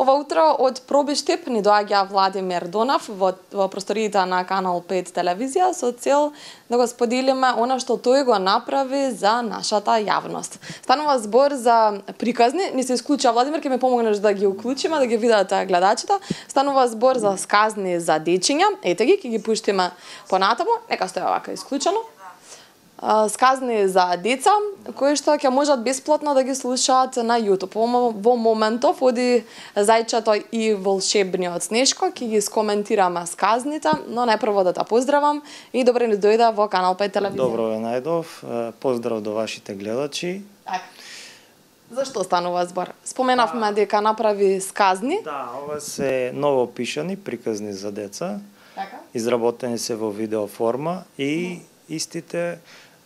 Ова утро од Пробиштип ни доаѓа Владимир Донав во просториите на Канал 5 телевизија со цел да го споделиме она што тој го направи за нашата јавност. Станува збор за приказни, ни се исклучува Владимир, ќе ми помогнеш да ги уклучиме, да ги видат гледачите. Станува збор за сказни за дечиња, ете ги, ќе ги пуштиме понатаму, нека стои овака исклучено. Сказни за деца, кои што ќе можат бесплатно да ги слушаат на YouTube. Во моментов оди Зајчето и волшебниот Снешко, ќе ги скоментираме сказните, но најпрво да те поздравам и добре ни дојде во Канал 5 телевизија. Добро ве најдов, поздрав до вашите гледачи. Така. Зашто станува збор? Споменавме дека направи сказни. Да, ова се ново пишани приказни за деца. Така. Изработени се во видео форма и истите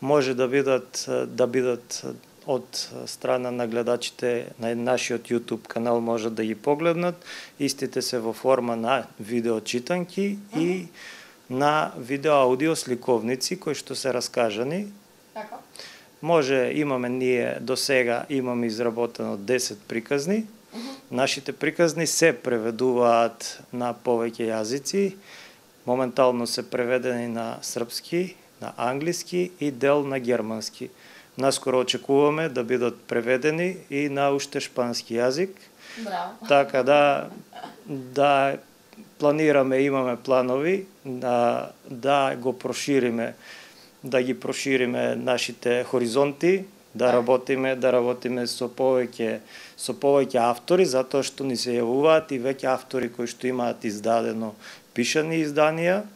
може да бидат од страна на гледачите на нашиот YouTube канал, може да ги погледнат. Истите се во форма на видео читанки и на видео аудио сликовници кои што се раскажани. Така. Може, ние до сега имаме изработено 10 приказни. Нашите приказни се преведуваат на повеќе јазици. Моментално се преведени на српски, на англиски и дел на германски. Наскоро очекуваме да бидат преведени и на уште шпански јазик. Браво. Така да планираме, имаме планови да го прошириме, да ги прошириме нашите хоризонти, да работиме со повеќе автори, затоа што ни се јавуваат и веќе автори кои што имаат издадено пишани изданија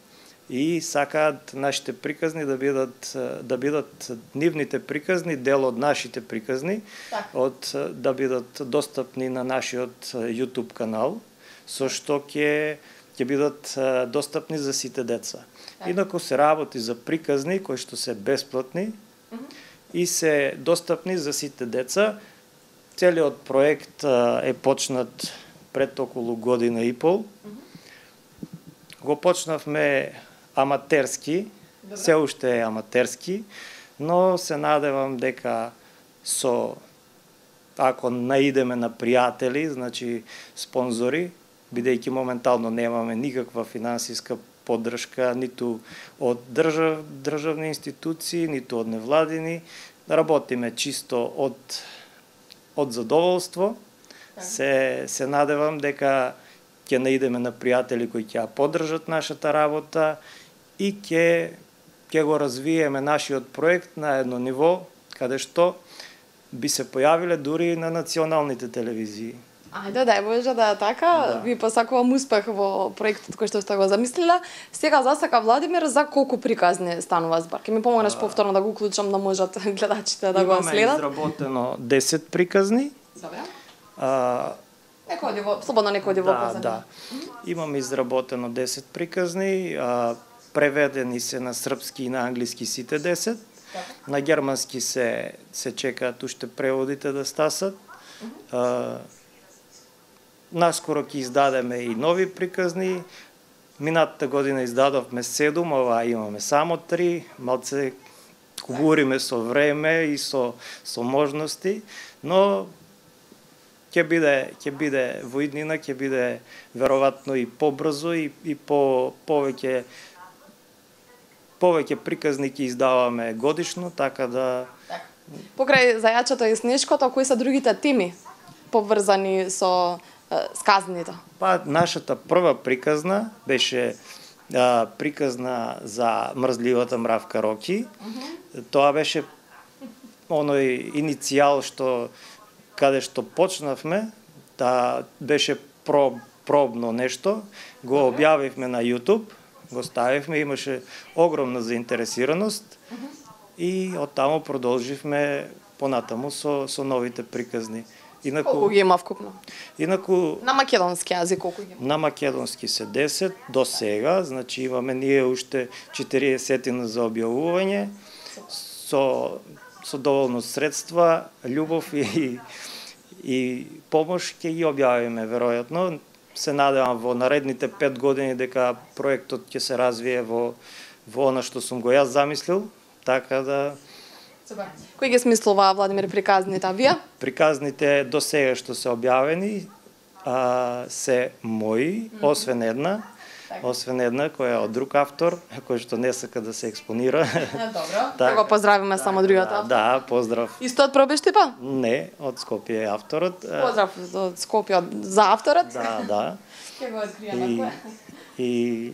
и сакаат нашите приказни да бидат нивните приказни дел од нашите приказни, да бидат достапни на нашиот YouTube канал, со што ќе бидат достапни за сите деца. Инаку се работи за приказни кои што се бесплатни и се достапни за сите деца. Целиот проект е почнат пред околу година и пол. Го почнавме аматерски, се уште е аматерски, но се надевам дека ако наидеме на пријатели, значи спонзори, бидејќи моментално немаме никаква финансиска поддршка, ниту од државни институции, ниту од невладини, да работиме чисто од задоволство. Се надевам дека ќе наидеме на пријатели кои ќе ја поддржат нашата работа и ќе го развиеме нашиот проект на едно ниво каде што би се појавиле дури и на националните телевизии. Ајде, дај Боже да е така. Ви посакувам успех во проектот кој што сте го замислила. Сега засака Владимир, за колку приказни станува збор? Ке ми помогнеш повторно да го уклучам да можат гледачите да го следат? Имаме изработено 10 приказни. Добре. Слободно некој оди во позадина. Да. Имаме изработено 10 приказни, преведени се на српски и на англиски сите 10. На германски се чекаат уште преводите да стасат. Наскоро ќе издадеме и нови приказни. Минатата година издадовме 7, ова имаме само 3. Малце кугуриме со време и со можности, но ќе биде во иднина, ќе биде веројатно и побрзо и повеќе приказни ќе издаваме годишно, така да... Покрај Зајачето и Снешкото, кои се другите теми поврзани со сказните? Нашата прва приказна беше приказна за мрзливата мравка Роки. Тоа беше оној иницијал каде што почнавме, беше пробно нешто, го објавивме на YouTube, го ставивме, имаше огромна заинтересираност и оттаму продолживме понатаму со новите приказни. Колку ги има вкупно? На македонски јазик колку ги има? На македонски се 10 до сега, значи имаме ние уште 40 за објавување, со доволно средства, љубов и помош ќе ги објавиме веројатно. Се надевам во наредните 5 години дека проектот ќе се развие во она што сум го јас замислил, така да... Кој ги смислува Владимир приказните, вие? Приказните до сега што се објавени се мои, освен една која е од друг автор, кој што не сака да се експонира. Добро. Да го поздравиме само другиот автор. Да, поздрав. Исто од Пробиштипа? Не, од Скопје е авторот. Поздрав од Скопје за авторот. Да. Ќе го откриеме. И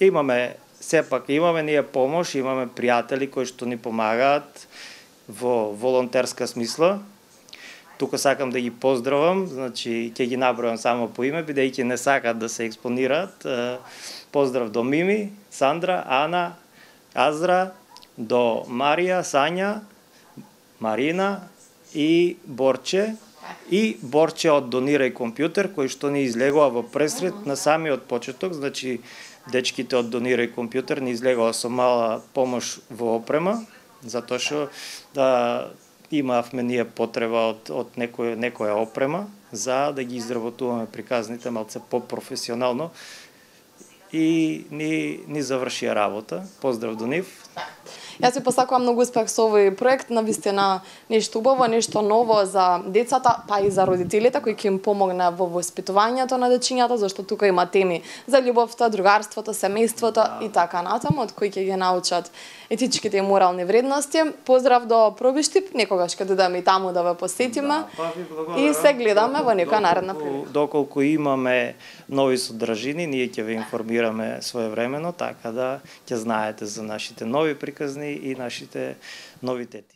имаме ние помош, имаме пријатели кои што ни помагаат во волонтерска смисла. Тука сакам да ги поздравам, значи ќе ги набројам само по име, бидејќи не сакаат да се експонираат. Поздрав до Мими, Сандра, Ана, Азра, до Марија, Сања, Марина и Борче. И Борче од Донирај компјутер, кој што ни излегува во пресред на самиот почеток, значи дечките од Донирај компјутер ни излегува со мала помош во опрема, затоа што имавме ние потреба од некоја опрема за да ги изработуваме приказните малце по-професионално и ни завршија работа. Поздрав до нив. Јас ви посакувам многу успех со овој проект, навистина нешто убаво, нешто ново за децата, па и за родителите кои ќе им помогне во воспитувањето на дечињата, зашто тука има теми за љубовта, другарството, семејството и така натаму, од кои ќе ги научат етичките и морални вредности. Поздрав до Пробиштип, некогаш ќе додеме и таму да ве посетиме и се гледаме во некоја наредна прилика. Доколку имаме нови содржини, ние ќе ве информираме своевремено, така да ќе знаете за нашите нови приказни и нашите новитети.